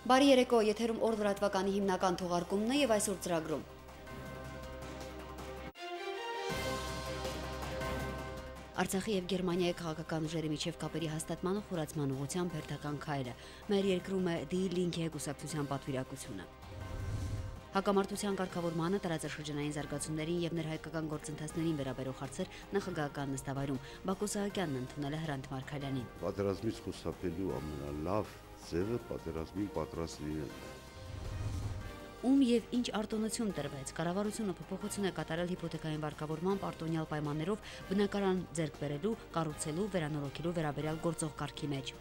Բարի երեկո, եթերում օր լրատվականի հիմնական թողարկումն է եւ այսօր ծրագրում։ Արցախի եւ Գերմանիայի քաղաքական ուժերի միջև կապերի հաստատման ու խորացման ուղղությամբ հերթական քայլը։ Մեր երկրում է D-Link-ի կուսակցության պատվիրակությունը։ Հակամարտության կարգավորմանը, տարածաշրջանային զարգացումներին եւ ներհայկական գործընթացներին վերաբերող հարցեր նախագահական նստավայրում Բակո Սահակյանն ընդունել է Հրանտ Մարգարյանին։ Պատերազմից խուսափելու ամենալավ ձևը պատերազմին պատրաստ լինելն է։ Ում եւ ինչ արտոնություն տրվեց, կառավարությունը փոփոխություն է կատարել հիփոթեքային վարկավորման պարտոնյալ պայմաններով բնակարան ձեռք բերելու, կառուցելու, վերանորոգելու վերաբերյալ գործող կարգի մեջ։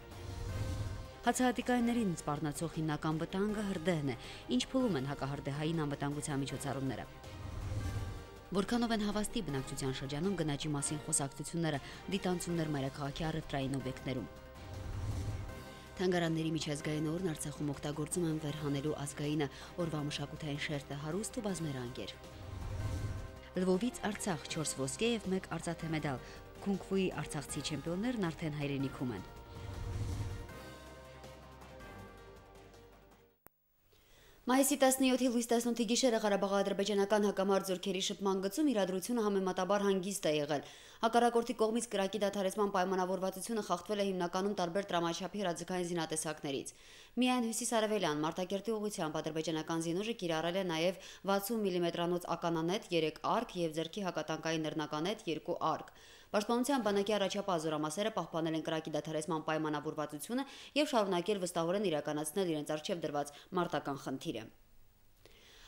Հացահատիկայիններին սպառնացող հիմնական վտանգը հրդեհն է, ինչ փուլում են հակահրդեհային անվտանգության միջոցառումները։ Որքանով են հավաստի բնակչության շրջանում գնաճի մասին խոսակցությունները, դիտանցումներ մայրաքաղաքի առևտրային օբյեկտներում։ Թանգարանների միջազգային օրն Արցախում օգտագործում են վերհանելու ազգայինը, օրվա մշակութային շերտը հարուստ ու բազմերանգեր։ Լվովից Արցախ 4 ոսկե եւ 1 արծաթե մեդալ։ Քունգ-ֆուի արցախցի չեմպիոններն արդեն հայրենիքում են։ Մայիսի 17-ի լույս 18-ի գիշերը Ղարաբաղ-ադրբեջանական հակամարտ զորքերի շփման գծում իրադրությունը համեմատաբար հանգիստ է եղել։ Հակառակորդի կողմից կրակի դադարեցման պայմանավորվածությունը խախտվել է հիմնականում տարբեր տրամաչափի հրաձգային զինատեսակներից։ Միայն հյուսիսարևելյան Մարտակերտի ուղղությամբ ադրբեջանական զինուժը կիրառել է նաև 60 մմ-անոց ականանետ 3 արկ եւ ձեռքի հակատանկային նռնականետ 2 արկ։ Պաշտպանության բանակի առաջապահ զորամասերը պահպանել են կրակի դադարեցման պայմանավորվածությունը եւ շարունակել վստահորեն իրականացնել իրենց առջեւ դրված մարտական խնդիրը։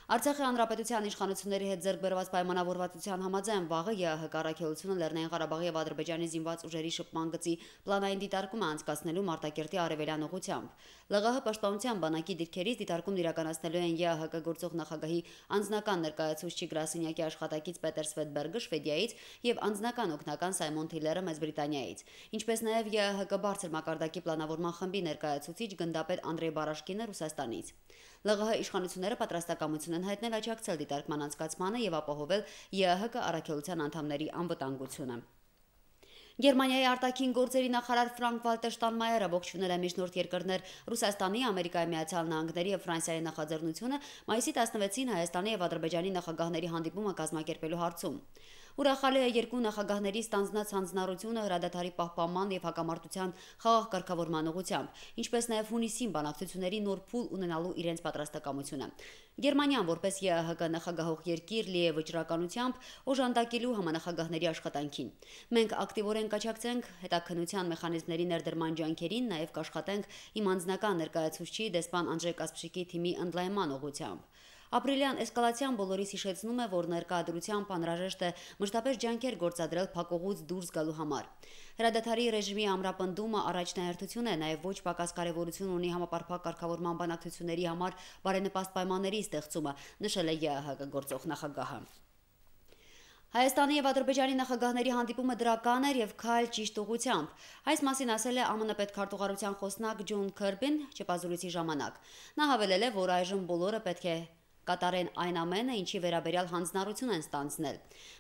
Արցախի հանրապետության իշխանությունների հետ ձեռք բերված պայմանավորվածության համաձայն վաղը ԵԱՀԿ առաքելությունը Լեռնային Ղարաբաղի եւ Ադրբեջանի զինված ուժերի շփման գծի պլանային դիտարկում է անցկացնելու Մարտակերտի արևելյան ուղղությամբ։ ԼՂՀ պաշտպանության բանակի դիրքերից դիտարկումն իրականացնելու են ԵԱՀԿ գործող նախագահի անձնական ներկայացուցիչ գրասենյակի աշխատակից Պետեր Սվետբերգը Շվեդիայից եւ անձնական օգնական Սայմոն Թիլերը Մեծ Բրիտանիայից, ինչպես նաեւ ԵԱՀԿ բարձր մակարդակի պլանավորման խմբի ներկայացուցիչ գնդապետ Անդրեյ Բարաշկինը Ռուսաստանից։ ԼՂՀ իշխանությունները պատրաստակամություն են հայտնել աջակցել դիտարկման անցկացմանը եւ ապահովել ԵԱՀԿ առաքելության անդամների անվտանգությունը։ Գերմանիայի արտաքին գործերի նախարար Ֆրանկ-Վալտեր Շտանմայերը ողջունել է միջնորդ երկրներ Ռուսաստանի, Ամերիկայի Միացյալ Նահանգների եւ Ֆրանսիայի նախաձեռնությունը մայիսի 16-ին Հայաստանի եւ Ադրբեջանի նախագահների հանդիպումը կազմակերպելու հարցում։ Ուրախալի է երկու նախագահների ստանձնած հանձնառությունը հրադադարի պահպանման եւ հակամարտության խաղաղ կարգավորման ուղղությամբ, ինչպես նաեւ հունիսին բանակցությունների նոր փուլ ունենալու իրենց պատրաստակամությունը։ Գերմանիան որպես ԵԱՀԿ նախագահող երկիր լի է վճռականությամբ օժանդակելու համանախագահների աշխատանքին։ Մենք ակտիվորեն կաջակցենք հետաքննության մեխանիզմների ներդրման ջանքերին, նաեւ կաշխատենք իմ անձնական ներկայացուցչի դեսպան Անջեյ Կասպրիկի թիմի ընդլայնման ուղղությամբ։ Ապրիլյան էսկալացիան բոլորիս հիշեցնում է, որ ներկայությամբ անհրաժեշտ է մշտապես ջանքեր գործադրել փակուղուց դուրս գալու համար։ Հրադադարի ռեժիմի ամրապնդումը առաջնահերթություն է, նաև ոչ պակաս կարևորություն ունի համապարփակ կարգավորման բանակցությունների համար բարենպաստ պայմանների ստեղծումը, նշել է ԵԱՀԿ գործող նախագահը։ Հայաստանի եւ Ադրբեջանի նախագահների հանդիպումը դրական էր եւ քայլ ճիշտ ուղղությամբ։ Այս մասին ասել է ԱՄՆ պետքարտուղարության խոսնակ Ջոն Քերբին չեպազորույցի ժամանակ։ Նա հավելել է, որ այժմ բոլորը պետք է կատարեն այն ամենը, ինչի վերաբերյալ հանձնառություն են ստանձնել։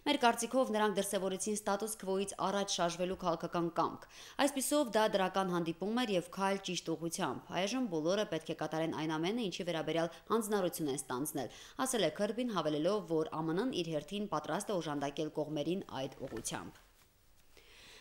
Մեր կարծիքով նրանք դրսևորեցին ստատուս քվոից առաջ շարժվելու քաղաքական կամք։ Այսպիսով դա դրական հանդիպում էր եւ քայլ ճիշտ ուղղությամբ։ Այժմ բոլորը պետք է կատարեն այն ամենը, ինչի վերաբերյալ հանձնառություն են ստանձնել, ասել է Քերբին, հավելելով, որ ԱՄՆ-ն իր հերթին պատրաստ է օժանդակել կողմերին այդ ուղղությամբ։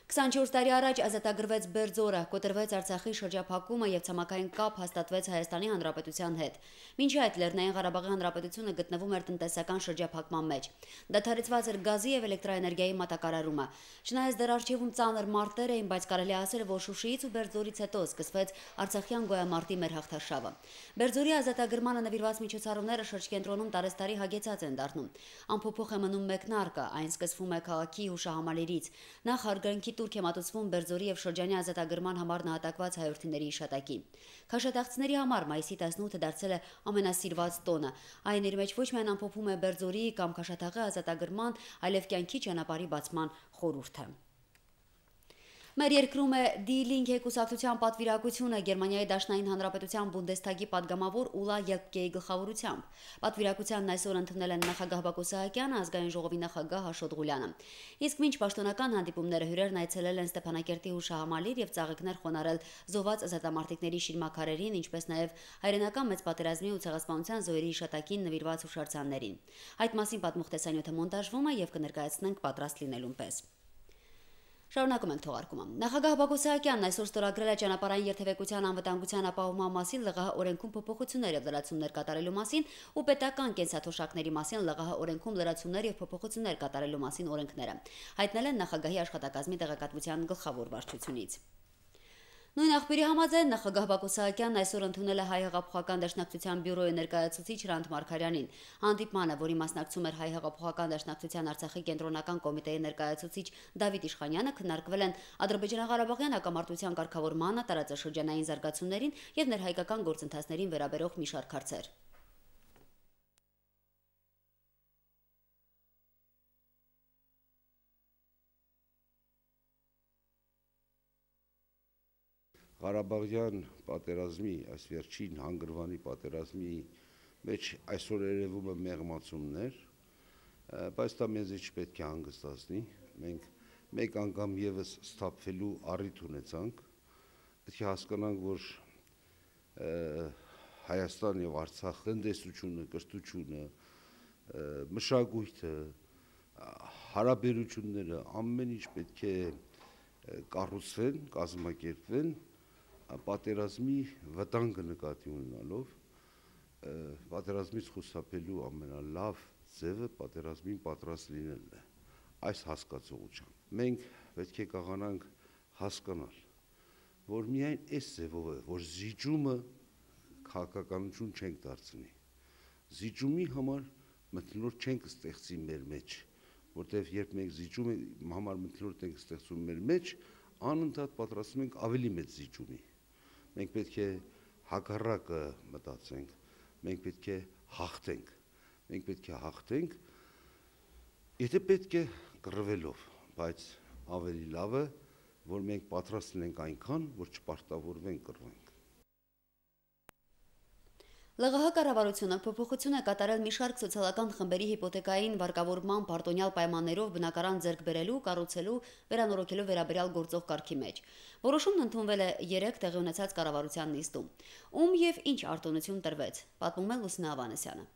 24 տարի առաջ ազատագրվեց Բերձորը, կոտրվեց Արցախի շրջափակումը եւ ցամաքային կապ հաստատվեց Հայաստանի Հանրապետության հետ։ Մինչ այդ Լեռնային Ղարաբաղի Հանրապետությունը գտնվում էր տնտեսական շրջափակման մեջ։ Դադարեցված էր գազի եւ էլեկտրաէներգիայի մատակարարումը։ Չնայած դեռ արժևում ծանր մարտեր էին, բայց կարելի է ասել, որ Շուշիից ու Բերձորից հետո սկսվեց Արցախյան գոյամարտի մեր հաղթաշավը։ Բերձորի ազատագրմանը նվիրված միջոցառումները շրջկենտրոնում տարեստարի հագեցած են դառնում։ Անփոփոխ է մնում մեկնարկը, այն սկսվում է քաղաքի հուշահամալիրից։ Նախ հարգանքի տուրք է մատուցվում Բերձորի եւ շրջանի ազատագրման համար նահատակված հայրենիների հիշատակին։ Քաշատաղցիների համար մայիսի 18-ը դարձել է ամենասիրված տոնը։ Այն իր մեջ ոչ միայն ամփոփում է Բերձորի կամ Քաշատաղի ազատագրման, այլև կյանքի ճանապարհի բացման խորհուրդը։ Մեր երկրում է Die Linke կուսակցության պատվիրակությունը Գերմանիայի Դաշնային Հանրապետության Բունդեսթագի падգամավոր Ուլա Ելկեի գլխավորությամբ։ Պատվիրակությանն այսօր ընդունել են նախագահ Բակո Սահակյանը, ազգային ժողովի նախագահ Աշոտ Ղուլյանը։ Իսկ մինչ պաշտոնական հանդիպումները հյուրերն այցելել են Ստեփանակերտի հուշահամալիր եւ ծաղիկներ խոնարել զոհված ազատամարտիկների շիրմաքարերին, ինչպես նաեւ հայրենական մեծ պատերազմի ու ցեղասպանության զոհերի հիշատակին նվիրված հուշարձաններին։ Այդ մասին պատմող տեսանյութը մոնտաժվում է եւ կներկայացնենք պատրաստ լինելուն պես։ Շարունակում ենք թողարկումը։ Նախագահ Բակո Սահակյանն այսօր ստորագրել է ճանապարհային երթևեկության անվտանգության ապահովման մասին ԼՂՀ օրենքում փոփոխություններ եւ լրացումներ կատարելու մասին ու պետական կենսաթոշակների մասին ԼՂՀ օրենքում լրացումներ եւ փոփոխություններ կատարելու մասին օրենքները։ Հայտնել են նախագահի աշխատակազմի տեղեկատվության գլխավոր վարչությունից։ Նույն աղբյուրի համաձայն նախագահ Բակո Սահակյանն այսօր ընդունել է Հայ հեղափոխական դաշնակցության բյուրոյի ներկայացուցիչ Հրանտ Մարգարյանին։ Հանդիպմանը, որի մասնակցում էր Հայ հեղափոխական դաշնակցության Արցախի կենտրոնական կոմիտեի ներկայացուցիչ Դավիթ Իշխանյանը, քննարկվել են Ադրբեջանա-Ղարաբաղյան հակամարտության կարգավորմանը, տարածաշրջանային զարգացումներին եւ ներհայկական գործընթացներին վերաբերող մի շարք հարցեր։ Ղարաբաղյան պատերազմի, այս վերջին հանգրվանի պատերազմի մեջ այսօր երևում է մեղմացումներ, բայց դա մեզ չպետք է հանգստացնի։ Մենք մեկ անգամ եւս սթափվելու առիթ ունեցանք։ Պետք է հասկանանք, որ Հայաստան եւ Արցախ տնտեսությունը, կրթությունը, մշակույթը, հարաբերությունները ամեն ինչ պետք է կառուցվեն, կազմակերպվեն պատերազմի վտանգը նկատի ունենալով, պատերազմից խուսափելու ամենալավ ձևը պատերազմին պատրաստ լինելն է, այս հասկացողությամբ։ Մենք պետք է կարողանանք հասկանալ, որ միայն այս ձևով է, որ զիջումը քաղաքականություն չենք դարձնի։ Զիջումի համար մթնոլորտ չենք ստեղծի մեր մեջ, որտեղ երբ մենք զիջումը համար մթնոլորտ ենք ստեղծում մեր մեջ, անընդհատ պատրաստում ենք ավելի մեծ զիջումի։ Մենք պետք է հակառակը մտածենք, մենք պետք է հաղթենք, եթե պետք է կռվելով, բայց ավելի լավ է, որ մենք պատրաստ լինենք այնքան, որ չպարտավորվենք կռվենք։ ԼՂՀ կառավարությունը փոփոխություն է կատարել մի շարք սոցիալական խմբերի հիպոթեկային վարկավորման պարտոնյալ պայմաններով բնակարան ձեռք բերելու, կառուցելու, վերանորոգելու վերաբերյալ գործող կարգի մեջ։ Որոշումն ընդունվել է 3 տեղի ունեցած կառավարության նիստում։ Ում եւ ինչ արտոնություն տրվեց, պատմում է Լուսինե Ավանեսյանը։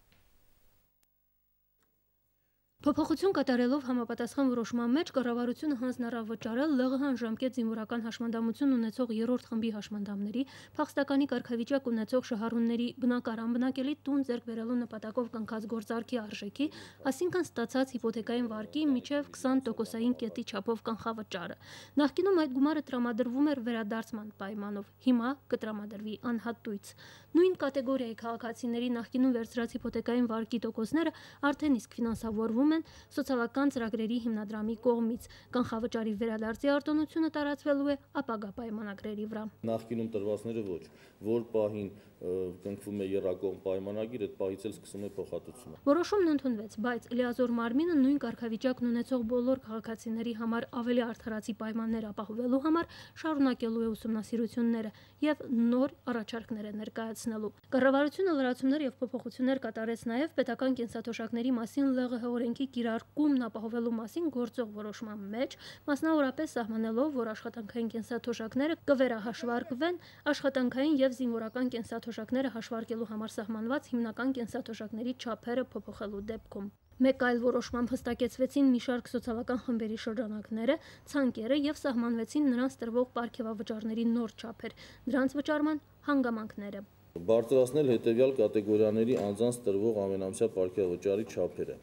Փոփոխություն կատարելով համապատասխան որոշման մեջ կառավարությունը հանձնարարավ վճարել ԼՂՀ ժամկետ զինվորական հաշմանդամություն ունեցող 3-րդ խմբի հաշմանդամների, փախստականի կարգավիճակ ունեցող շահառուների բնակարան բնակելի տուն ձեռք բերելու նպատակով կնքած գործարքի արժեքի, այսինքն ստացած հիպոթեկային վարկի մինչև 20%-ային կետի չափով կանխավճարը։ Նախկինում այդ գումարը տրամադրվում էր վերադարձման պայմանով, հիմա կտրամադրվի անհատույց։ Նույն կատեգորիայի քաղաքացիների նախկինում վերցրած հիպոթեկային վարկի տոկոսները արդեն իսկ ֆինանսավորվում են սոցիալական ծրագրերի հիմնադրամի կողմից։ Կանխավճարի վերադարձի արտոնությունը տարածվելու է ապագա պայմանագրերի վրա։ Նախկինում տրվածները ոչ, որ պահին կնքվում է եռակողմ պայմանագիր, այդ պահից էլ սկսում է փոխհատուցումը։ Որոշումն ընդունվեց, բայց լիազոր մարմինը նույն կարգավիճակն ունեցող բոլոր քաղաքացիների համար ավելի արդարացի պայմաններ ապահովելու համար շարունակելու է ուսումնասիրությունները եւ նոր առաջարկներ է ներկայացնելու։ Կառավարությունը լրացումներ եւ փոփոխություններ կատարեց նաեւ պետական կենսաթոշակների մասին ԼՂՀ օրենքի կիրարկումն ապահովելու մասին գործող որոշման մեջ, մասնավորապես սահմանելով, որ աշխատանքային կենսաթոշակները կվերահաշվարկվեն աշխատանքային եւ զինվորական կենսաթոշակները հաշվարկելու համար սահմանված հիմնական կենսաթոշակների չափերը փոփոխելու դեպքում։ Մեկ այլ որոշմամբ հստակեցվեցին մի շարք սոցիալական խմբերի շրջանակները, ցանկերը եւ սահմանվեցին նրանց տրվող պարգևավճարների նոր չափեր, դրանց վճարման հանգամանքները։ Բարձրացնել հետևյալ կատեգորիաների անձանց տրվող ամենամսյա պարգևավճարի չափերը։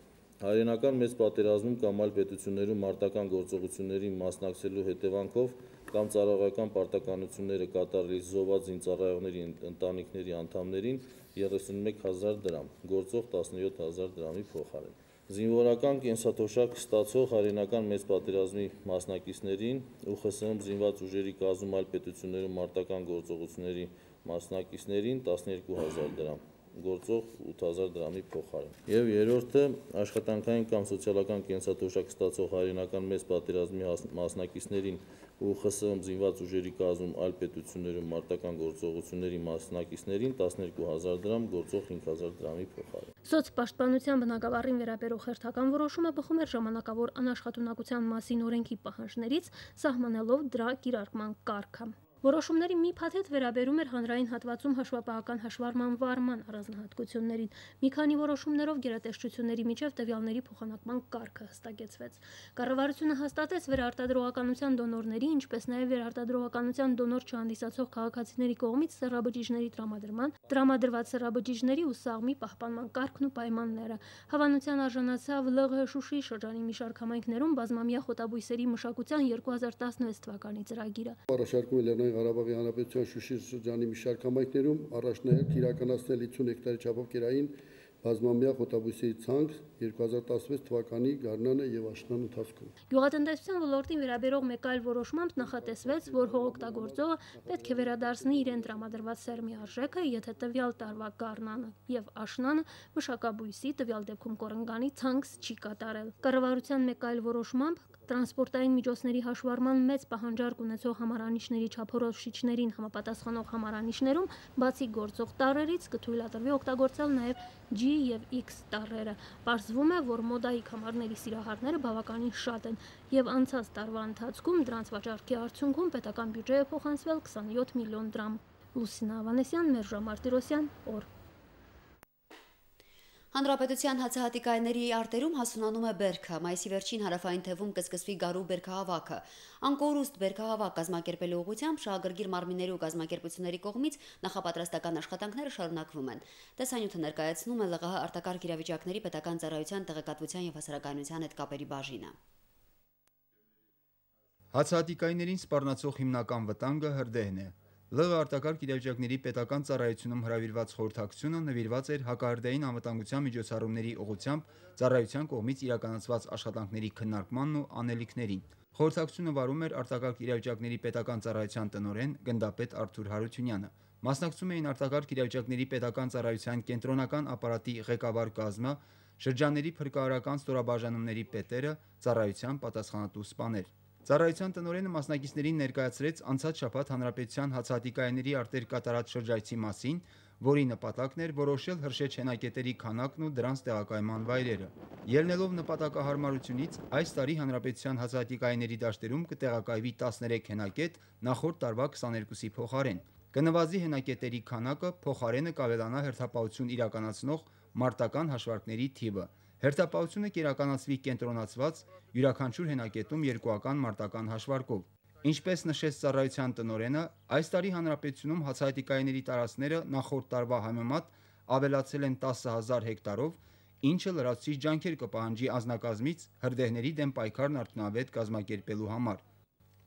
Հայրենական մեծ պատերազմում կամ այլ պետություններում մարտական գործողություններին մասնակցելու հետևանքով կամ ծառայողական պարտականությունները կատարելիս զոհված զինծառայողների ընտանիքների անդամներին 31,000 դրամ, գործող 17,000 դրամի փոխարեն։ Զինվորական կենսաթոշակ ստացող հայրենական մեծ պատերազմի մասնակիցներին ՈՒԽՍՀ զինված ուժերի կազմում այլ պետություններում մարտական գործողությունների մասնակիցներին 12,000 դրամ, գործող 8000 դրամի փոխարեն։ Եվ երրորդը աշխատանքային կամ սոցիալական կենսաթոշակ ստացող հայրենական մեծ պատերազմի մասնակիցներին ու ԽՍՀՄ զինված ուժերի կազմում այլ պետություններում մարտական գործողությունների մասնակիցներին 12000 դրամ գործող 5000 դրամի փոխարեն։ Սոցպաշտպանության բնագավառին վերաբերող հերթական որոշումը բխում էր ժամանակավոր անաշխատունակության մասին օրենքի պահանջներից, սահմանելով դրա կիրարկման կարգը։ Որոշումների մի փաթեթ վերաբերում էր հանրային հատվածում հաշվապահական հաշվառման վարման առանձնահատկություններին։ Մի քանի որոշումներով գերատեսչությունների միջև տվյալների փոխանակման կարգը հստակեցվեց։ Կառավարությունը հաստատեց վերարտադրողականության դոնորների, ինչպես նաև վերարտադրողականության դոնոր չհանդիսացող քաղաքացիների կողմից սեռաբջիջների տրամադրված սեռաբջիջների ու սաղմի պահպանման կարգն ու պայմանները։ Հավանության արժանացավ ԼՂՀ Շուշի շրջանի մի շարք համայնքներում բազմամյա խոտաբույսերի մշակության 2016 թվականի ծրագիրը։ Ղարաբաղի Հանրապետության Շուշի շրջանի մի շարք համայնքներում առաջնահերթ իրականացնել 50 հեկտարի չափով կերային բազմամյա խոտաբույսերի ցանք 2016 թվականի գարնանը եւ աշնան ընթացքում։ Գյուղատնտեսության ոլորտին վերաբերող մեկ այլ որոշմամբ նախատեսվեց, որ հողօգտագործողը պետք է վերադարձնի իրեն տրամադրված սերմի արժեքը, եթե տվյալ տարվա գարնանը եւ աշնանը մշակաբույսի, տվյալ դեպքում կորնգանի ցանց չի կատարել։ Կառավարության մեկ այլ որոշմամբ տրանսպորտային միջոցների հաշվառման մեծ պահանջարկ ունեցող համարանիշների չափորոշիչներին համապատասխանող համարանիշներում, բացի գործող տառերից, կթույլատրվի օգտագործել նաև G եւ X տառերը։ Պարզվում է, որ մոդայիկ համարների սիրահարները բավականին շատ են եւ անցած տարվա ընթացքում դրանց վաճառքի արդյունքում պետական բյուջեը փոխանցվել 27 միլիոն դրամ։ Լուսինա Ավանեսյան, Մերժա Մարտիրոսյան, օր։ Հանրապետության հացահատիկայինների արտերում հասունանում է բերքը։ Մայիսի վերջին հարավային թևում կսկսվի գարու բերքահավաքը։ Անկորուստ բերքահավաք կազմակերպելու ուղղությամբ շահագրգիռ մարմինների ու կազմակերպությունների կողմից նախապատրաստական աշխատանքները շարունակվում են։ Տեսանյութը ներկայացնում է ԼՂՀ արտակարգ իրավիճակների պետական ծառայության տեղեկատվության եւ հասարակայնության հետ կապերի բաժինը։ Հացահատիկայիններին սպառնացող հիմնական վտանգը հրդեհն է։ ԼՂ արտակարգ իրավիճակների պետական ծառայությունում հրավիրված խորհրդակցությունը նվիրված էր հակահրդեհին անվտանգության միջոցառումների ուղղությամբ ծառայության կողմից իրականացված աշխատանքների քննարկմանն ու անելիքներին։ Խորհրդակցությունը վարում էր արտակարգ իրավիճակների պետական ծառայության տնօրեն գնդապետ Արթուր Հարությունյանը։ Մասնակցում էին արտակարգ իրավիճակների պետական ծառայության կենտրոնական ապարատի ղեկավար կազմը, շրջանների փրկարարական ստորաբաժանումների պետերը, ծառայության պատասխանատու սպաներ։ Ծառայության տնօրենը մասնակիցներին ներկայացրեց անցած շաբաթ հանրապետության հացահատիկայինների արտեր կատարած շրջայցի մասին, որի նպատակն էր որոշել հրշեջ հենակետերի քանակն ու դրանց տեղակայման վայրերը։ Ելնելով նպատակահարմարությունից, այս տարի հանրապետության հացահատիկայինների դաշտերում կտեղակայվի 13 հենակետ նախորդ տարվա 22-ի փոխարեն։ Կնվազի հենակետերի քանակը, փոխարենը կավելանա հերթապահություն իրականացնող մարտական հաշվարկների թիվը։ Հերթապահությունը կիրականացվի կենտրոնացված յուրաքանչյուր հենակետում երկուական մարտական հաշվարկով։ Ինչպես նշեց ծառայության տնօրենը, այս տարի հանրապետությունում հացահատիկայինների տարածքները նախորդ տարվա համեմատ ավելացել են 10000 հեկտարով, ինչը լրացուցիչ ջանքեր կպահանջի անձնակազմից հրդեհների դեմ պայքարն արդյունավետ կազմակերպելու համար։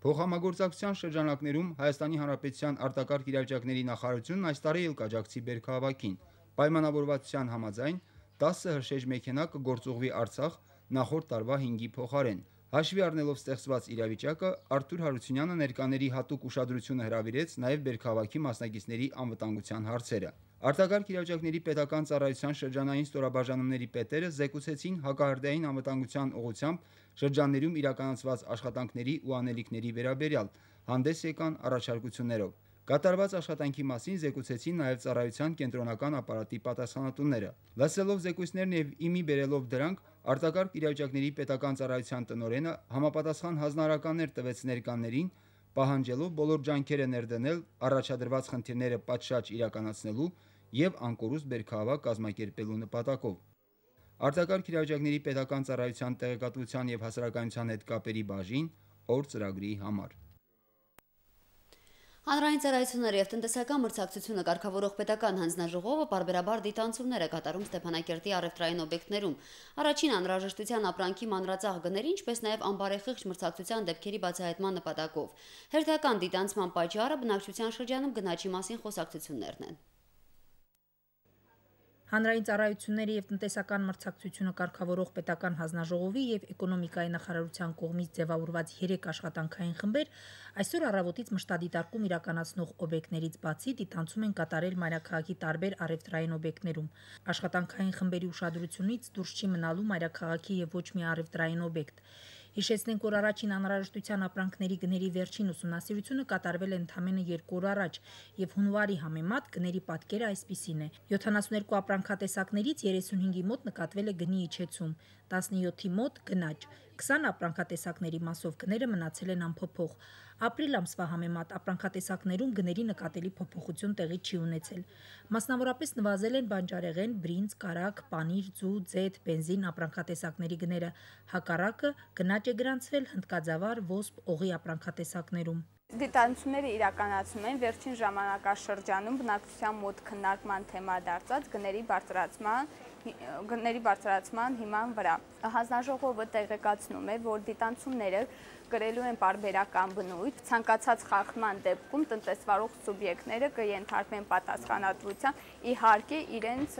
Փոխհամագործակցության շրջանակներում Հայաստանի Հանրապետության արտակարգ իրավիճակների նախարարությունն այս տարի էլ կաջակցի բերքահավաքին։ Պայմանավորվածության համաձայն 10 հրշեջ մեքենա կգործուղվի Արցախ նախորդ տարվա 5-ի փոխարեն։ Հաշվի առնելով ստեղծված իրավիճակը, Արթուր Հարությունյանը ներկաների հատուկ ուշադրությունը հրավիրեց նաև բերքահավաքի մասնակիցների անվտանգության հարցերը։ Արտակարգ իրավիճակների պետական ծառայության շրջանային ստորաբաժանումների պետերը զեկուցեցին հակահրդեհային անվտանգության ուղղությամբ շրջաններում իրականացված աշխատանքների ու անելիքների վերաբերյալ, հանդես եկան առաջարկություններով։ Կատարված աշխատանքի մասին զեկուցեցին նաև ծառայության կենտրոնական ապարատի պատասխանատուները։ Լսելով զեկույցներն եւ իմի բերելով դրանք, արտակարգ իրավիճակների պետական ծառայության տնօրենը համապատասխան հանձնարարականներ տվեց ներկաներին, պահանջելով բոլոր ջանքերը ներդնել առաջադրված խնդիրները պատշաճ իրականացնելու եւ անկորուստ բերքահավաք կազմակերպելու նպատակով։ Արտակարգ իրավիճակների պետական ծառայության տեղեկատվության եւ հասարակայնության հետ կապերի բաժին օր ծրագրի համար։ Հանրային ծառայությունների եւ տնտեսական մրցակցությունը կարգավորող պետական հանձնաժողովը պարբերաբար դիտանցումներ է կատարում Ստեփանակերտի առևտրային օբյեկտներում։ Առաջին անհրաժեշտության ապրանքի մանրածախ գների, ինչպես նաև անբարեխիղճ մրցակցության դեպքերի բացահայտման նպատակով։ Հերթական դիտանցման պատճառը բնակչության շրջանում գնաճի մասին խոսակցություններն են։ Հանրային ծառայությունների եւ տնտեսական մրցակցությունը կարգավորող պետական հանձնաժողովի եւ էկոնոմիկայի նախարարության կողմից ձևավորված 3 աշխատանքային խմբեր այսօր առավոտից մշտադիտարկում իրականացնող օբյեկտներից բացի դիտանցում են կատարել մայրաքաղաքի տարբեր առևտրային օբյեկտներում։ Աշխատանքային խմբերի ուշադրությունից դուրս չի մնալու մայրաքաղաքի եւ ոչ մի առևտրային օբյեկտ։ Հիշեցնենք, որ առաջին անհրաժեշտության ապրանքների գների վերջին ուսումնասիրությունը կատարվել է ընդամենը 2 օր առաջ եւ հունվարի համեմատ գների պատկերը այսպիսին է. 72 ապրանքատեսակներից 35-ի մոտ նկատվել է գնի իջեցում, 17-ի մոտ գնաճ, 20 ապրանքատեսակների մասով գները մնացել են անփոփոխ։ Ապրիլ ամսվա համեմատ ապրանքատեսակներում գների նկատելի փոփոխություն տեղի չի ունեցել։ Մասնավորապես նվազել են բանջարեղեն, բրինձ, կարագ, պանիր, ձու, ձեթ, բենզին ապրանքատեսակների գները։ Հակառակը գնաճ է գրանցվել հնդկաձավար, ոսպ, օղի ապրանքատեսակներում։ Դիտանությունները իրականացում են վերջին ժամանակաշրջանում բնակչության մոտ քննարկման թեմա դարձած գների բարձրացման հիման վրա։ Հանձնաժողովը տեղեկացնում է, որ դիտանությունները կրելու են պարբերական բնույթ, ցանկացած խախտման դեպքում տնտեսվարող սուբյեկտները կենթարկվեն պատասխանատվության, իհարկե իրենց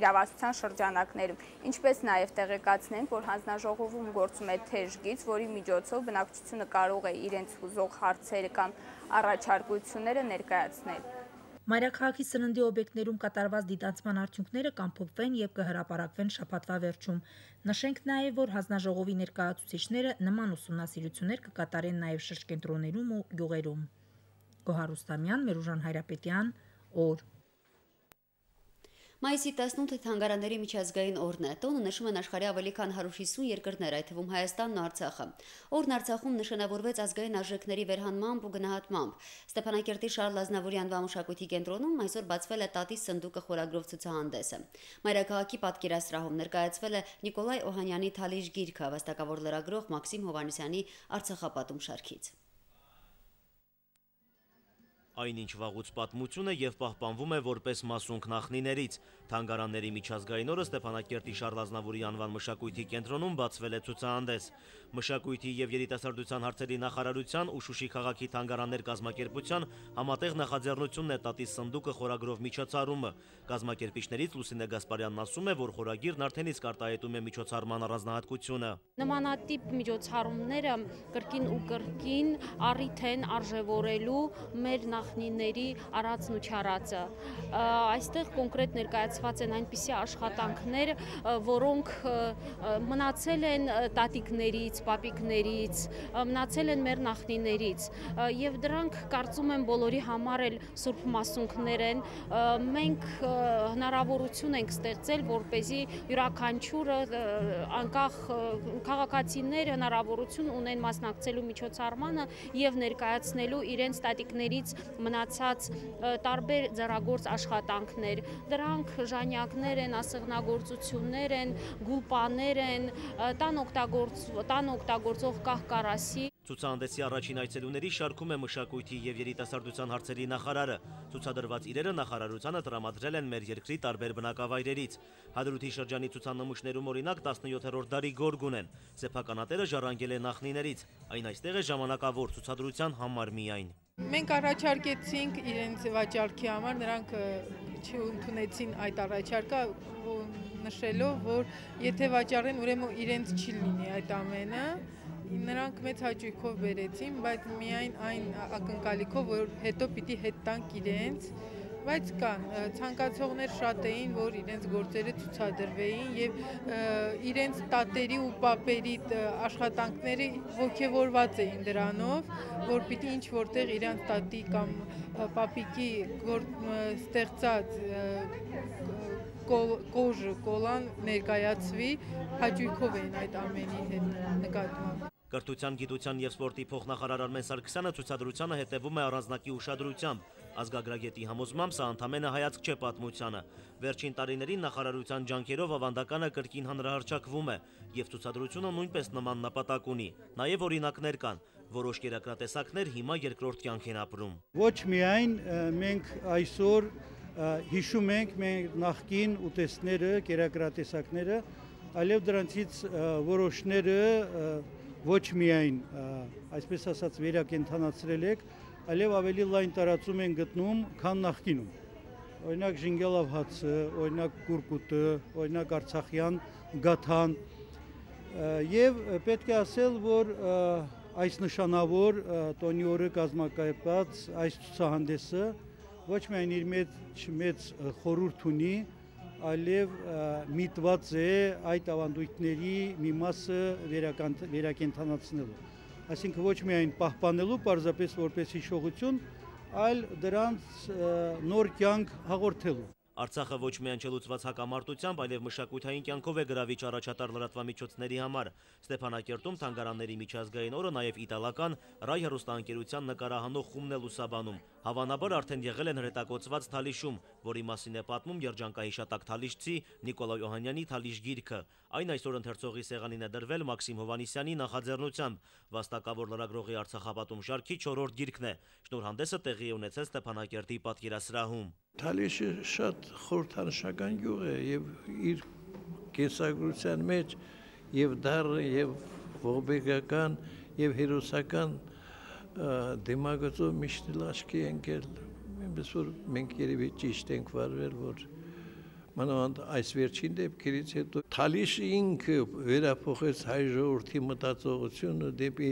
իրավասության շրջանակներում։ Ինչպես նաև տեղեկացնենք, որ հանձնաժողովում գործում է թեժ գիծ, որի միջոցով բնակչությունը կարող է իրենց հուզող հարցերը կամ առաջարկությունները ներկայացնել։ Մայրաքաղաքի սննդի օբյեկտներում կատարված դիտացման արդյունքները կամփոփվեն եւ կհրապարակվեն շաբաթվա վերջում։ Նշենք նաեւ, որ հանձնաժողովի ներկայացուցիչները նման ուսումնասիրություններ կկատարեն նաեւ շրջկենտրոններում ու գյուղերում։ Գոհար Ռուստամյան, Մերուժան Հայրապետյան, օր։ Մայիսի 18-ը թանգարանների միջազգային օրն է։ Տոնը նշում են աշխարհի ավելի քան 150 երկրներ, այդ թվում Հայաստանն ու Արցախը։ Օրն Արցախում նշանավորվեց ազգային արժեքների վերհանմամբ ու գնահատմամբ։ Ստեփանակերտի Շարլ Ազնավուրի անվան մշակույթի կենտրոնում այսօր բացվել է «Տատիս սնդուկը» խորագրով ցուցահանդեսը։ Մայրաքաղաքի պատկերասրահում ներկայացվել է Նիկոլայ Օհանյանի «Թալիշ» գիրքը, վաստակավոր լրագրող Մաքսիմ Հովհաննիսյանի «Արցախապատում» շարքից։ Այնինչ վաղուց պատմություն է եւ պահպանվում է որպես մասունք նախնիներից։ Թանգարանների միջազգային օրը Ստեփանակերտի Շարլ Ազնավուրի անվան մշակույթի կենտրոնում բացվել է ցուցահանդես։ Մշակույթի եւ երիտասարդության հարցերի նախարարության ու Շուշի քաղաքի թանգարաններ կազմակերպության համատեղ նախաձեռնությունն է «Տատիս սնդուկը» խորագրով միջոցառումը։ Կազմակերպիչներից Լուսինե Գասպարյանն ասում է, որ խորագիրն արդեն իսկ արտահայտում է միջոցառման առանձնահատկությունը։ Նմանատիպ միջոցառումները կրկին ու կրկին առիթ են արժևորելու մեր նախնիների արածն ու չարածը։ Այստեղ կոնկրետ ներկայացված են այնպիսի աշխատանքներ, որոնք մնացել են տատիկներից, պապիկներից, մնացել են մեր նախնիներից եւ դրանք կարծում եմ բոլորի համար էլ սուրբ մասունքներ են։ Մենք հնարավորություն ենք ստեղծել, որպեսզի յուրաքանչյուրը անկախ քաղաքացիները հնարավորություն ունեն մասնակցելու միջոցառմանը եւ ներկայացնելու իրենց տատիկներից մնացած տարբեր ձեռագործ աշխատանքներ։ Դրանք ժանյակներ են, ասեղնագործություններ են, գուլպաներ են, տան օգտագործող կահ-կարասի։ Ցուցահանդեսի առաջին այցելուների շարքում է մշակույթի եւ երիտասարդության հարցերի նախարարը։ Ցուցադրված իրերը նախարարությանը տրամադրել են մեր երկրի տարբեր բնակավայրերից։ Հադրութի շրջանի ցուցանմուշներում օրինակ 17-րդ դարի գորգուն են։ Սեփականատերը ժառանգել է նախնիներից։ Այն այստեղ է ժամանակավոր ցուցադրության համար միայն։ Մենք առաջարկեցինք իրենց վաճառքի համար, նրանք չընդունեցին այդ առաջարկը, նշելով, որ եթե վաճառեն, ուրեմն իրենց չի լինի այդ ամենը։ Նրանք մեծ հաճույքով բերեցին, բայց միայն այն ակնկալիքով, որ հետո պիտի հետ տանք իրենց, բայց կան ցանկացողներ շատ էին, որ իրենց գործերը ցուցադրվեին եւ իրենց տատերի ու պապերի աշխատանքները ողջևորված էին դրանով, որ պիտի ինչ որտեղ իրենց տատի կամ պապիկի ստեղծած կոլան ներկայացվի, հաճույքով էին այդ ամենի հետ նկատմամբ։ Կրթության, գիտության եւ սպորտի փոխնախարար Արմեն Սարգսյանը ցուցադրությանը հետևում է առանձնակի ուշադրությամբ։ Ազգագրագետի համոզմամբ սա ընդամենը հայացք չէ պատմությանը։ Վերջին տարիներին նախարարության ջանքերով ավանդականը կրկին հանրահռչակվում է եւ ցուցադրությունը նույնպես նման նպատակ ունի։ Նաեւ օրինակներ կան։ Որոշ կերակրատեսակներ հիմա երկրորդ կյանք են ապրում։ Ոչ միայն մենք այսօր հիշում ենք մեր նախկին ուտեստները, կերակրատեսակները, այլև դրանցից որոշները ոչ միայն, այսպես ասած, վերակենդանացրել եք, այլև ավելի լայն տարածում են գտնում, քան նախկինում։ օրինակ Ժինգելավ հացը, օրինակ Կուրկուտը, օրինակ Արցախյան գաթան եւ պետք է ասել, որ այս նշանավոր տոնի օրը կազմակերպած այս ցուցահանդեսը ոչ միայն իր մեծ խորհուրդ ունի, այլև միտված է այդ ավանդույթների մի մասը վերակենդանացնելու։ Այսինքն ոչ միայն պահպանելու պարզապես որպես հիշողություն, այլ դրանց նոր կյանք հաղորդելու։ Արցախը ոչ միայն չլուծված հակամարտությամբ, այլև մշակութային կյանքով է գրավիչ առաջատար լրատվամիջոցների համար։ Ստեփանակերտում թանգարանների միջազգային օրը նաև իտալական Rai հեռուստաընկերության նկարահանող խումբն է լուսաբանում։ Հավանաբար արդեն եղել են հրետակոծված Թալիշում, որի մասին է պատմում երջանկահիշատակ թալիշցի Նիկոլայ Օհանյանի Թալիշ գիրքը։ Այն այսօր ընթերցողի սեղանին է դրվել Մաքսիմ Հովհաննիսյանի նախաձեռնությամբ։ Վաստակավոր լրագրողի Արցախապատում շարքի 4-րդ գիրքն է։ Շնորհանդեսը տեղի է ունեցել Ստեփանակերտի պատկերասրահում։ Թալիշը շատ խորհրդանշական գյուղ է եւ իր կենսագրության մեջ եւ դառը եւ ողբերգական եւ հերոսական դեմագծով միշտ լաշկի ընկել։ Այնպես որ մենք երևի ճիշտ ենք վարվել, որ մանավանդ այս վերջին դեպքերից հետո Թալիշը ինքը վերափոխեց հայ ժողովրդի մտածողությունը դեպի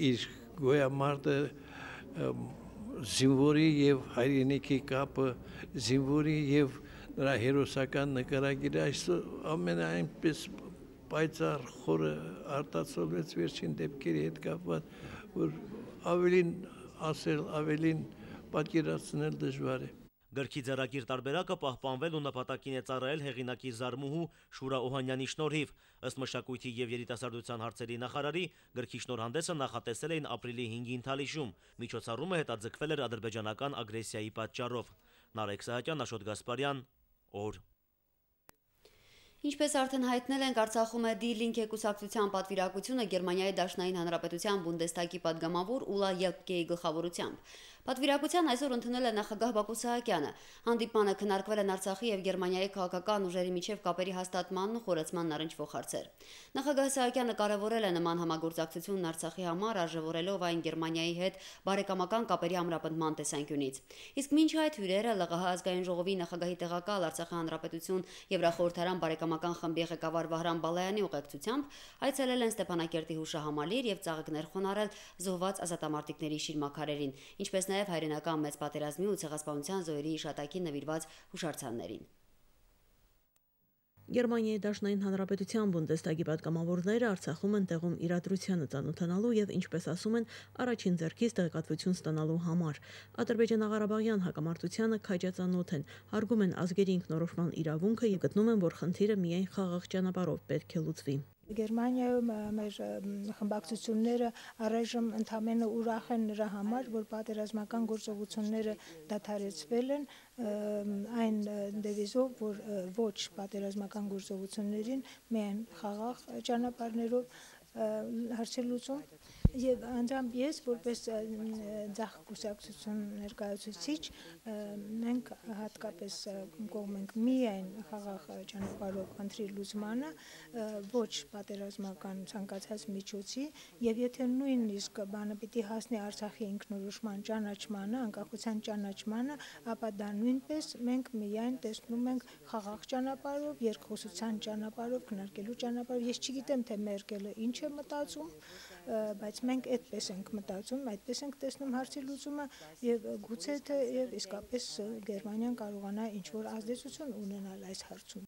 իր գոյամարտը զինվորի եւ հայրենիքի կապը, զինվորի եւ նրա հերոսական նկարագիրը այսօր ամենայնպես պայծառ խորը արտացոլվեց վերջին դեպքերի հետ կապված, որ ավելին ասել, ավելին պատկերացնել դժվար է։ Գրքի ձեռագիր տարբերակը պահպանվել ու նպատակին է ծառայել հեղինակի զարմուհու Շուրա Օհանյանի շնորհիվ։ Ըստ մշակույթի եւ երիտասարդության հարցերի նախարարի, գրքի շնորհանդեսը նախատեսել էին ապրիլի 5-ին Թալիշում։ Միջոցառումը հետաձգվել էր ադրբեջանական ագրեսիայի պատճառով։ Նարեկ Սահակյան, Աշոտ Գասպարյան, օր։ Ինչպես արդեն հայտնել ենք, Արցախում է Die Linke կուսակցության պատվիրակությունը Գերմանիայի Դաշնային Հանրապետության Բունդեստագի падգամավոր Ուլա Յակկեի գլխավորությամբ։ Պատվիրակության այսօր ընդունել է նախագահ Բակո Սահակյանը։ Հանդիպմանը քննարկվել են Արցախի եւ Գերմանիայի քաղաքական ուժերի միջև կապերի հաստատմանն ու խորացմանն առնչվող հարցեր։ Նախագահ Սահակյանը կարևորել է նման համագործակցությունն Արցախի համար, արժևորելով այն Գերմանիայի հետ բարեկամական կապերի ամրապնդման տեսանկյունից։ Իսկ մինչ այդ հյուրերը ԼՂՀ ազգային ժողովի նախագահի տեղակալ Արցախի Հանրապետություն Եվրախորհրդարան բարեկամական խմբի ղեկավար Վահրամ Բալայանի ուղեկցությամբ այցելել են Ստեփանակերտի հուշահամալիր եւ ծաղիկներ խոնարհել զոհված ազատամարտիկների շիրմաքարերին, ինչպես նաև հայրենական մեծ պատերազմի ու ցեղասպանության զոհերի հիշատակին նվիրված հուշարձաններին։ Գերմանիայի Դաշնային Հանրապետության Բունդեստագի падգամավորները Արցախում են տեղում իրադրությանը ծանոթանալու եւ, ինչպես ասում են, առաջին ձեռքից տեղեկատվություն ստանալու համար։ Ադրբեջանա-Ղարաբաղյան հակամարտությանը քաջածանոթ են, հարգում են ազգերի ինքնորոշման իրավունքը եւ գտնում են, որ խնդիրը միայն խաղաղ ճանապարհով պետք է լուծվի։ Գերմանիայում մեր խմբակցությունները առայժմ ընդամենը ուրախ են նրա համար, որ պատերազմական գործողությունները դադարեցվել են, այն դեվիզով, որ ոչ պատերազմական գործողություններին միայն խաղաղ ճանապարհներով հարցեր լուծում եւ անձամբ ես որպես ձախ կուսակցություն ներկայացուցիչ մենք հատկապես կողմ ենք միայն խաղաղ ճանապարհով խնդրի լուծմանը, ոչ պատերազմական ցանկացած միջոցի եւ եթե նույնիսկ բանը պիտի հասնի Արցախի ինքնորոշման ճանաչմանը, անկախության ճանաչմանը, ապա դա նույնպես մենք միայն տեսնում ենք խաղաղ ճանապարհով, երկխոսության ճանապարհով, քննարկելու ճանապարհով։ Ես չգիտեմ թե Մերկելը ինչ է մտածում, բայց մենք այդպես ենք մտածում, այդպես ենք տեսնում հարցի լուծումը եւ գուցե թե եւ իսկապես Գերմանիան կարողանա ինչ-որ ազդեցություն ունենալ այս հարցում։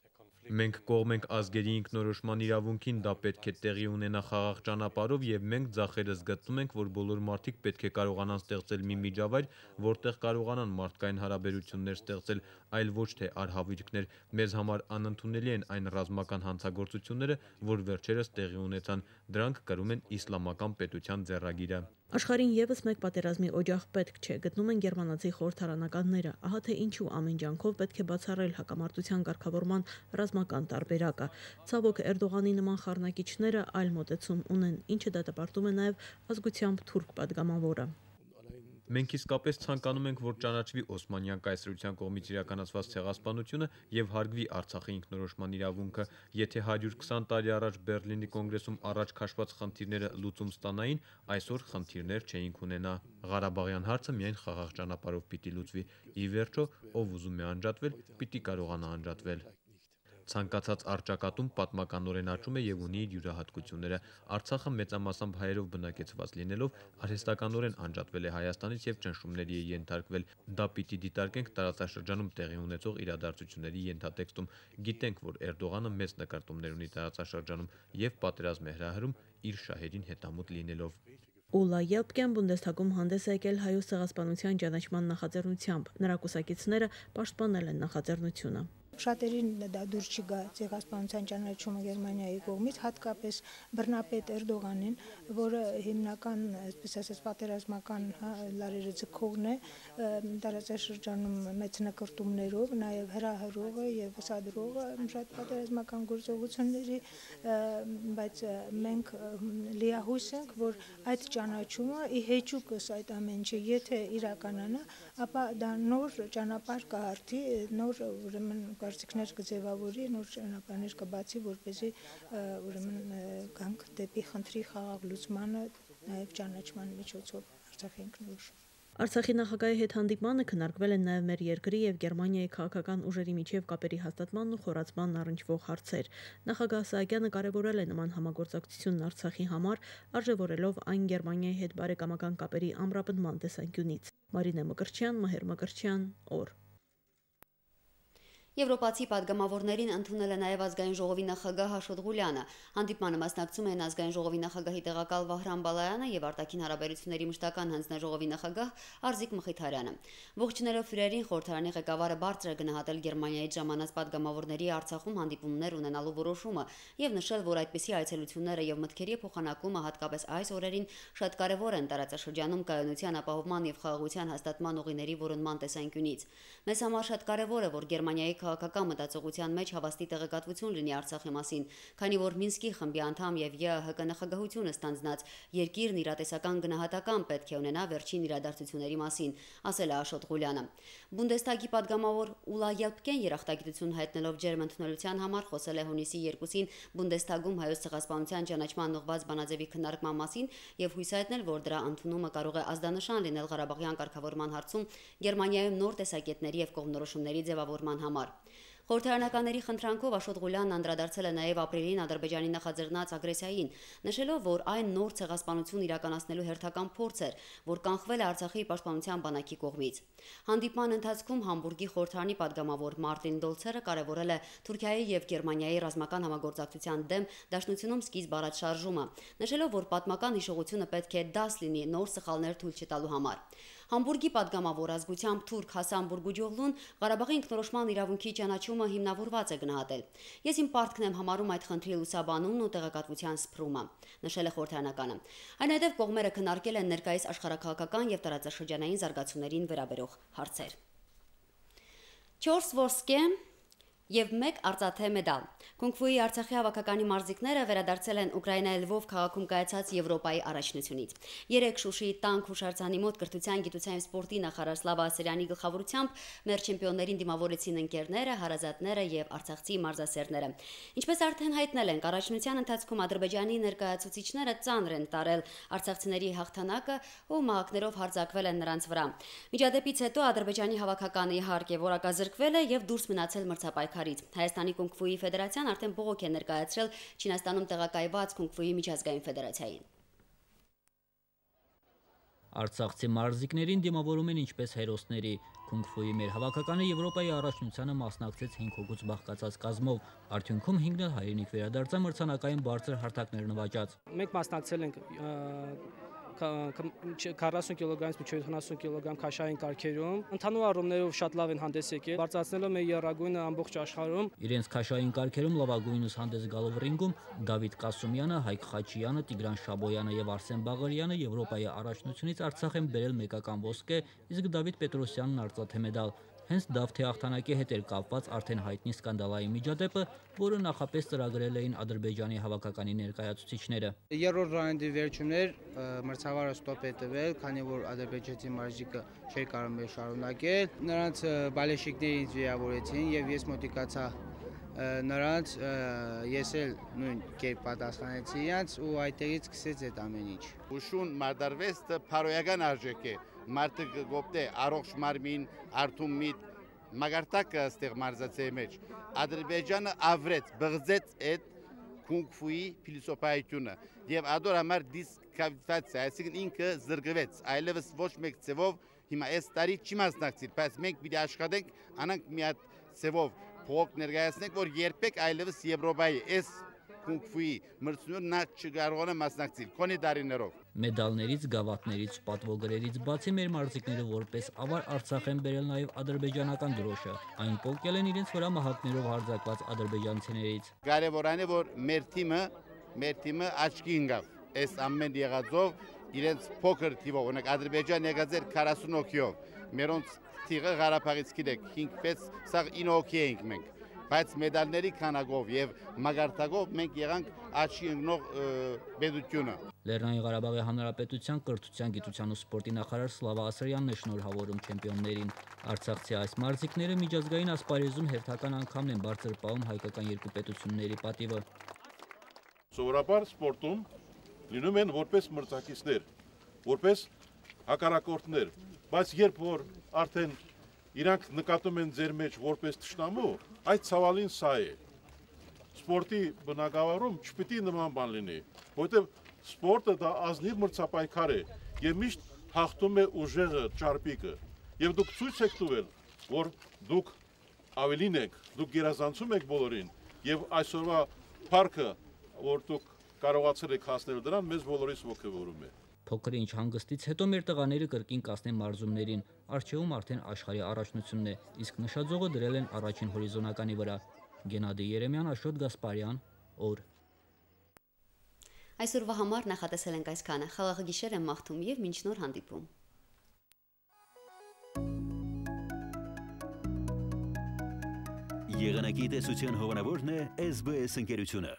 Մենք կողմ ենք ազգերի ինքնորոշման իրավունքին, դա պետք է տեղի ունենա խաղաղ ճանապարհով եւ մենք ձախերս գտնում ենք, որ բոլոր մարդիկ պետք է կարողանան ստեղծել մի միջավայր, որտեղ կարողանան մարդկային հարաբերություններ ստեղծել, այլ ոչ թե արհավիրքներ։ Մեզ համար անընդունելի են այն ռազմական հանցագործությունները, որ վերջերս տեղի ունեցան, դրանք կրում են իսլամական պետության ձեռագիրը։ Աշխարհին եւս մեկ պատերազմի օջախ պետք չէ, գտնում են գերմանացի խորհրդարանականները, ահա թե ինչու ամեն ջանքով պետք է բացառել հակամարտության ղեկավարման ռազմական տարբերակը։ Ցավոք Էրդողանի նման խառնակիչները այլ մոտեցում ունեն, ինչը դատապարտում է նաեւ ազգությամբ թուրք падգամավորը։ Մենք իսկապես ցանկանում ենք, որ ճանաչվի Օսմանյան կայսրության կողմից իրականացված ցեղասպանությունը եւ հարգվի Արցախի ինքնորոշման իրավունքը։ Եթե 120 տարի առաջ Բեռլինի կոնգրեսում առաջ քաշված խնդիրները լուծում ստանային, այսօր խնդիրներ չէինք ունենա։ Ղարաբաղյան հարցը միայն խաղաղ ճանապարհով պիտի լուծվի։ Ի վերջո, ով ուզում է անջատվել, պիտի կարողանա անջատվել։ Ցանկացած առճակատում պատմականորեն աճում է եւ ունի իր յուրահատկությունները։ Արցախը մեծամասամբ հայերով բնակեցված լինելով արհեստականորեն անջատվել է Հայաստանից եւ ճնշումների է ենթարկվել։ Դա պիտի դիտարկենք տարածաշրջանում տեղի ունեցող իրադարձությունների ենթատեքստում։ Գիտենք, որ Էրդողանը մեծ նկարտումներ ունի տարածաշրջանում եւ պատերազմ է հրահրում իր շահերին հետամուտ լինելով։ Ուլա Ելպկյան Բունդեսթագում հանդես է եկել հայոց ցեղասպանության ճանաչման նախաձեռնությամբ։ Նրա կուսակիցները պաշտպանել են նախաձեռնությունը։ Շատերին դա դուր չգա ցեղասպանության ճանաչումը Գերմանիայի կողմից, հատկապես բռնապետ Էրդողանին, որը հիմնական, այսպես ասած, պատերազմական լարերը ձգողն է տարածաշրջանում մեծ նկարտումներով, նաև հրահրողը եւ սադրողը շատ պատերազմական գործողությունների, բայց մենք լիահույս ենք, որ այդ ճանաչումը ի հեճուկս այդ ամեն ինչը եթե իրականանա, ապա դա նոր ճանապարհ կհարթի, նոր ուրեմն կարծիքներ կձևավորի, նոր ճանապարհներ կբացի, որպեսզի ուրեմն գանք դեպի խնդրի խաղաղ լուծմանը, նաև ճանաչման միջոցով Արցախի ինքնորոշում։ Արցախի նախագահի հետ հանդիպմանը քննարկվել են նաև մեր երկրի եւ Գերմանիայի քաղաքական ուժերի միջև կապերի հաստատմանն ու խորացմանն առնչվող հարցեր։ Նախագահ Սահակյանը կարևորել է նման համագործակցությունն Արցախի համար, արժևորելով այն Գերմանիայի հետ բարեկամական կապերի ամրապնդման տեսանկյունից։ Մարինե Մկրտչյան, Մհեր Մկրտչյան, օր։ Եվրոպացի падգամավորներին ընդունել է նաև ազգային ժողովի նախագահ Աշոտ Ղուլյանը։ Հանդիպմանը մասնակցում են ազգային ժողովի նախագահի տեղակալ Վահրամ Բալայանը եւ արտաքին հարաբերությունների մշտական հանձնաժողովի նախագահ Արզիկ Մխիթարյանը։ Ողջունելով հյուրերին, խորհրդարանի ղեկավարը բարձր է գնահատել Գերմանիայից ժամանած падգամավորների Արցախում հանդիպումներ ունենալու որոշումը եւ նշել, որ այդպիսի այցելությունները եւ մտքերի փոխանակումը հատկապես այս օրերին շատ կարեւոր են տարածաշրջանում կայունության ապահովման եւ խաղաղության հաստատման ուղիների որոնման տեսանկյունից։ Մեզ համար շատ կարեւոր է, որ Գերմանիայի քաղաքական մտածողության մեջ հավաստի տեղեկատվություն լինի Արցախի մասին, քանի որ Մինսկի խմբի անդամ եւ ԵԱՀԿ նախագահությունը ստանձնած երկիրն իրատեսական գնահատական պետք է ունենա վերջին իրադարձությունների մասին, ասել է Աշոտ Ղուլյանը։ Բունդեսթագի падգամավոր Ուլա Ելպկեն երախտագիտություն հայտնելով ջերմ ընդունելության համար խոսել է հունիսի 2-ին Բունդեսթագում հայոց ցեղասպանության ճանաչման ուղղված բանաձևի քննարկման մասին եւ հույս հայտնել, որ դրա ընդունումը կարող է ազդանշան լինել Ղարաբաղյան կարգավորման հարցում Գերմանիայում նոր տեսակետների եւ կողմնորոշումների ձևավորման համար։ Խորհրդարանականների խնդրանքով Աշոտ Ղուլյանն անդրադարձել է նաև ապրիլին Ադրբեջանի նախաձեռնած ագրեսիային, նշելով, որ այն նոր ցեղասպանություն իրականացնելու հերթական փորձ էր, որ կանխվել է Արցախի պաշտպանության բանակի կողմից։ Հանդիպման ընթացքում Համբուրգի խորհրդարանի падգամավոր Մարտին Դոլցերը կարևորել է Թուրքիայի եւ Գերմանիայի ռազմական համագործակցության դեմ դաշնությունում սկիզբ առած շարժումը, նշելով, որ պատմական հիշողությունը պետք է դաս լինի նոր սխալներ թույլ չտալու համար։ Համբուրգի падգամավոր ազգությամբ թուրք Հասան Բուրգուջօղլուն Ղարաբաղի ինքնորոշման իրավունքի ճանաչումը հիմնավորված է գնահատել։ Ես իմ պարտքն եմ համարում այդ խնդրի լուսաբանումն ու տեղեկատվության սփռումը, նշել է խորհրդարանականը։ Այնուհետև կողմերը քննարկել են ներկայիս աշխարհակաղակական եւ տարածաշրջանային զարգացումներին վերաբերող հարցեր։ 4 ոսկե եւ 1 արծաթե մեդալ։ Կունգֆուի Արցախի հավաքականի մարզիկները վերադարձել են Ուկրաինայի Լվով քաղաքում կայացած Եվրոպայի առաջնությունից։ 3 Շուշիի տանկ հուշարձանի մոտ կրթության, գիտության եւ սպորտի նախարար Սլավա Ասերյանի գլխավորությամբ մեր չեմպիոններին դիմավորեցին ընկերները, հարազատները եւ արցախցի մարզասերները։ Ինչպես արդեն հայտնել ենք, առաջնության ընթացքում Ադրբեջանի ներկայացուցիչները ծանր են տարել արցախցիների հաղթանակը ու մահակներով հարձակվել են նրանց վրա։ Միջադեպից հետո Ադրբեջանի հավաքականը իհարկե որակազրկվել է եւ դուրս մնացել մրցապայքարից։ Հայաստանի Կունգֆուի ֆեդերացիան արդեն բողոք է ներկայացրել Չինաստանում տեղակայված Կունգֆուի միջազգային ֆեդերացիային։ Արցախցի մարզիկներին դիմավորում են ինչպես հերոսների։ Կունգֆուի մեր հավաքականը Եվրոպայի առաջնությանը մասնակցեց 5 հոգուց բաղկացած կազմով։ Արդյունքում 5-ն էլ հայրենիք վերադարձան մրցանակային բարձր հարթակներ նվաճած։ Մենք մասնակցել ենք 40 կիլոգրամից մինչև 70 կիլոգրամ քաշային կարգերում։ Ընդհանուր առումներով շատ լավ են հանդես եկել, բարձրացնելով մեր եռագույնը ամբողջ աշխարհում։ Իրենց քաշային կարգերում լավագույնս հանդես գալով ռինգում Դավիթ Կասումյանը, Հայկ Խաչյանը, Տիգրան Շաբոյանը եւ Արսեն Բաղարյանը Եվրոպայի առաջնությունից Արցախ են բերել մեկական ոսկե, իսկ Դավիթ Պետրոսյանն արծաթե մեդալ։ Հենց Դավթի հաղթանակի հետ էր կապված արդեն հայտնի սկանդալային միջադեպը, որը նախապես ծրագրել էին Ադրբեջանի հավաքականի ներկայացուցիչները։ Երրորդ ռաունդի վերջում էր մրցավարը ստոպ է տվել, քանի որ ադրբեջանցի մարզիկը չէր կարող մեր շարունակել։ Նրանց բալեշիկներից վիրավորեցին եւ ես մոտիկացա նրանց, ես էլ նույն կերպ պատասխանեցի իրանց ու այդտեղից սկսեց այդ ամեն ինչ։ Ուշուն մարտարվեստը փարոյական արժեք է։ Մարդը գոպտե առողջ մարմին, արթուն միտ, մագարտակը ստեղ մարզացեի մեջ։ Ադրբեջանը ավրեց, բղձեց այդ կունգֆուի փիլիսոփայությունը եւ ադոր համար դիսկվալիֆիկացիա, այսինքն ինքը զրկվեց, այլևս ոչ մեկ ցևով հիմա այս տարի չի մասնակցել, բայց մենք պիտի աշխատենք, անանք մի հատ ցևով փող ներկայացնենք, որ երբեք այլևս Եվրոպայի այս կունգֆուի մրցույթին նա չկարողանա մասնակցել քոնի տարիներով։ Մեդալներից, գավաթներից, պատվոգրերից բացի մեր մարզիկները որպես ավար Արցախ են բերել նաև ադրբեջանական դրոշը։ Այն պոկել են իրենց վրա մահակներով հարձակված ադրբեջանցիներից։ Կարևորն է, որ մեր թիմը աչքի ընկավ։ Այս ամեն եղածով իրենց փոքր թիվով, օրինակ Ադրբեջան եկած էր 40 հոգիով։ Մերոնց թիվը Ղարաբաղից գիտեք 5-6 սա 9 հոգի ենք մենք։ Բայց մեդալների քանակով եւ մագարտակով մենք եղանք աչքի ընկնող պետությունը։ Լեռնային Ղարաբաղի Հանրապետության կրթության, գիտության ու սպորտի նախարար Սլավա Ասրյանն է շնորհավորում չեմպիոններին։ Արցախցի այս մարզիկները միջազգային ասպարեզում հերթական անգամն են բարձր պահում հայկական երկու պետությունների պատիվը։ Սովորաբար սպորտում լինում են որպես մրցակիցներ, որպես հակառակորդներ, բայց երբ որ արդեն իրանք նկատում են ձեր մեջ որպես թշնամու, այդ ցավալին սա է։ Սպորտի բնակավարում չպիտի նման բան լինի, որովհետև սպորտը դա ազնիվ մրցապայքար է եւ միշտ հաղթում է ուժեղը, ճարպիկը։ Եվ դուք ցույց եք տվել, որ դուք ավելին եք, դուք գերազանցում եք բոլորին եւ այսօրվա փառքը, որ դուք կարողացել եք հասնել դրան, մեզ բոլորիս ոգևորում է։ Փոքր ինչ հանգստից հետո մեր տղաները կրկին կասնեն մարզումներին, առջևում արդեն աշխարհի առաջնությունն է, իսկ նշաձողը դրել են առաջին հորիզոնականի վրա։ Գենադի Երեմյան, Աշոտ Գասպարյան, օր։ Այսօրվա համար նախատեսել ենք այսքանը։ Խաղաղ գիշեր եմ մաղթում եւ մինչ նոր հանդիպում։ Եղանակի տեսության հովանավորն է SBS ընկերությունը։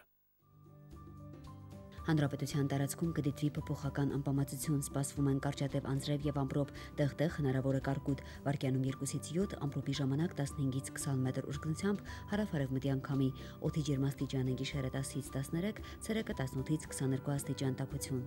Հանրապետության տարածքում կդիտվի փոփոխական անբավարարություն, սպասվում են կարճատև անձրև եւ ամպրոպ, տեղտեղ հնարավոր է կարկուտ, վարկյանում 2-ից 7, ամպրոպի ժամանակ 15-ից 20 մետր ուժգնությամբ հարավ-արևմտյան քամի, օդի ջերմաստիճանը գիշերը 10-ից 13, ցերեկը 18-ից 22 աստիճան տաքություն։